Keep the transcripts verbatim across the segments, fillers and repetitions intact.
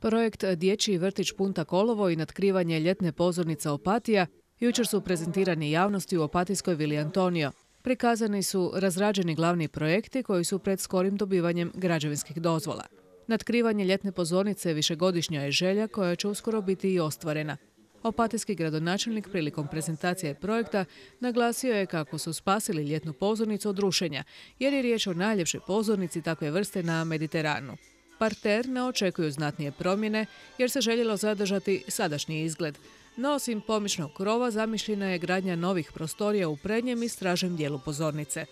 Projekt Dječji vrtić Punta Kolovo i natkrivanje ljetne pozornice Opatija jučer su prezentirani javnosti u opatijskoj vili Antonio. Prikazani su razrađeni glavni projekti koji su pred skorim dobivanjem građevinskih dozvola. Natkrivanje ljetne pozornice višegodišnja je želja koja će uskoro biti i ostvarena. Opatijski gradonačelnik prilikom prezentacije projekta naglasio je kako su spasili ljetnu pozornicu od rušenja, jer je riječ o najljepšoj pozornici takve vrste na Mediteranu. Parter ne očekuju znatnije promjene jer se željelo zadržati sadašnji izgled. No, osim pomičnog krova zamišljena je gradnja novih prostorija u prednjem i stražem dijelu pozornice.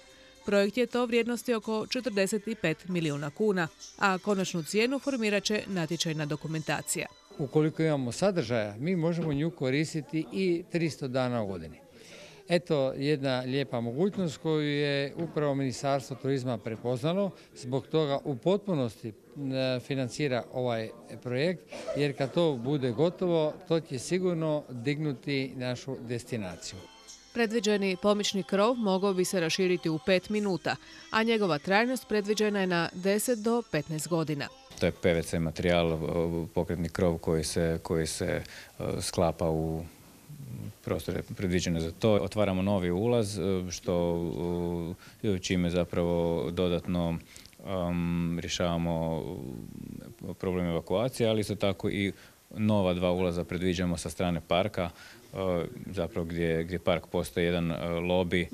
Projekt je to vrijednosti oko četrdeset pet milijuna kuna, a konačnu cijenu formirat će natječajna dokumentacija. Ukoliko imamo sadržaja, mi možemo nju koristiti i tristo dana u godini. Eto jedna lijepa mogućnost koju je upravo Ministarstvo turizma prepoznalo, zbog toga u potpunosti financira ovaj projekt, jer kad to bude gotovo, to će sigurno dignuti našu destinaciju. Predviđeni pomični krov mogao bi se raširiti u pet minuta, a njegova trajnost predviđena je na deset do petnaest godina. To je P V C materijal, pokretni krov koji se, koji se sklapa u prostore predviđene za to. Otvaramo novi ulaz, što čime zapravo dodatno um, rješavamo problem evakuacije, ali isto tako i nova dva ulaza predviđamo sa strane parka, zapravo gdje, gdje park postoji jedan lobi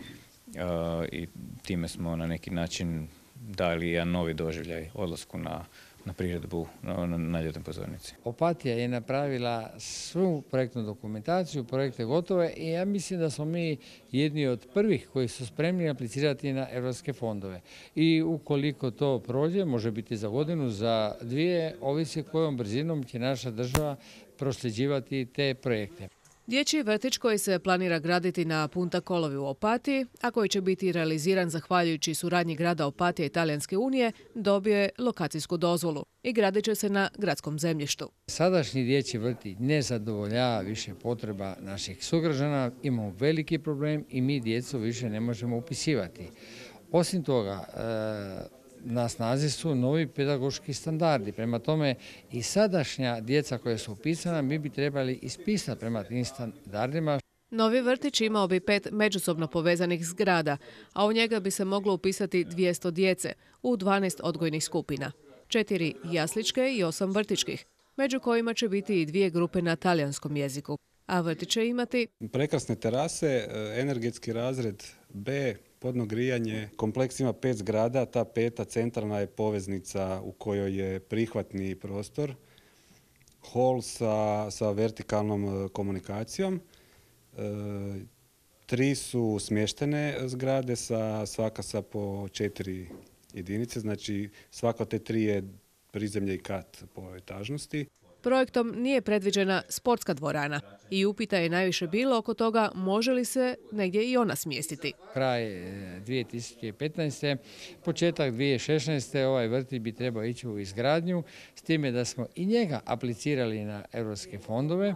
i time smo na neki način dali jedan novi doživljaj odlasku na, na priredbu na, na ljetnoj pozornici. Opatija je napravila svu projektnu dokumentaciju, projekte gotove i ja mislim da smo mi jedni od prvih koji su spremni aplicirati na europske fondove. I ukoliko to prođe, može biti za godinu, za dvije, ovisi kojom brzinom će naša država prosljeđivati te projekte. Dječji vrtić koji se planira graditi na Punta Kolovi u Opatiji, a koji će biti realiziran zahvaljujući suradnji grada Opatija i Talijanske unije, dobio je lokacijsku dozvolu i gradit će se na gradskom zemljištu. Sadašnji dječji vrtić ne zadovoljava više potreba naših sugrađana, imamo veliki problem i mi djecu više ne možemo upisivati. Osim toga, na snazi su novi pedagoški standardi. Prema tome i sadašnja djeca koja su upisana mi bi trebali ispisati prema tim standardima. Novi vrtić imao bi pet međusobno povezanih zgrada, a u njega bi se moglo upisati dvjesto djece u dvanaest odgojnih skupina. Četiri jasličke i osam vrtičkih, među kojima će biti i dvije grupe na talijanskom jeziku. A vrtić će imati prekrasne terase, energetski razred B, podno grijanje. Kompleks ima pet zgrada, ta peta centralna je poveznica u kojoj je prihvatni prostor, hol sa, sa vertikalnom komunikacijom. E, tri su smještene zgrade, sa, svaka sa po četiri jedinice, znači svaka od te tri je prizemlje i kat po etažnosti. Projektom nije predviđena sportska dvorana i upita je najviše bilo oko toga može li se negdje i ona smjestiti. Kraj dvije tisuće petnaeste. početak dvije tisuće šesnaeste. ovaj vrtić bi trebao ići u izgradnju, s time da smo i njega aplicirali na europske fondove,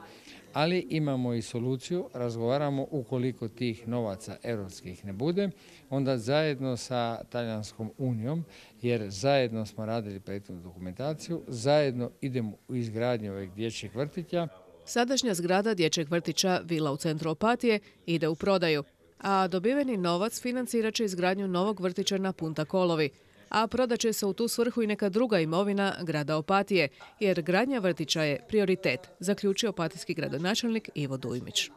ali imamo i soluciju, razgovaramo ukoliko tih novaca europskih ne bude, onda zajedno sa Talijanskom unijom, jer zajedno smo radili projektnu dokumentaciju, zajedno idemo u izgradnju ovih dječjih vrtića. Sadašnja zgrada dječjeg vrtića Vila u centru Opatije ide u prodaju, a dobiveni novac financirat će izgradnju novog vrtića na Punta Kolovi, a prodat će se u tu svrhu i neka druga imovina grada Opatije, jer gradnja vrtića je prioritet, zaključio opatijski gradonačelnik Ivo Dujmić.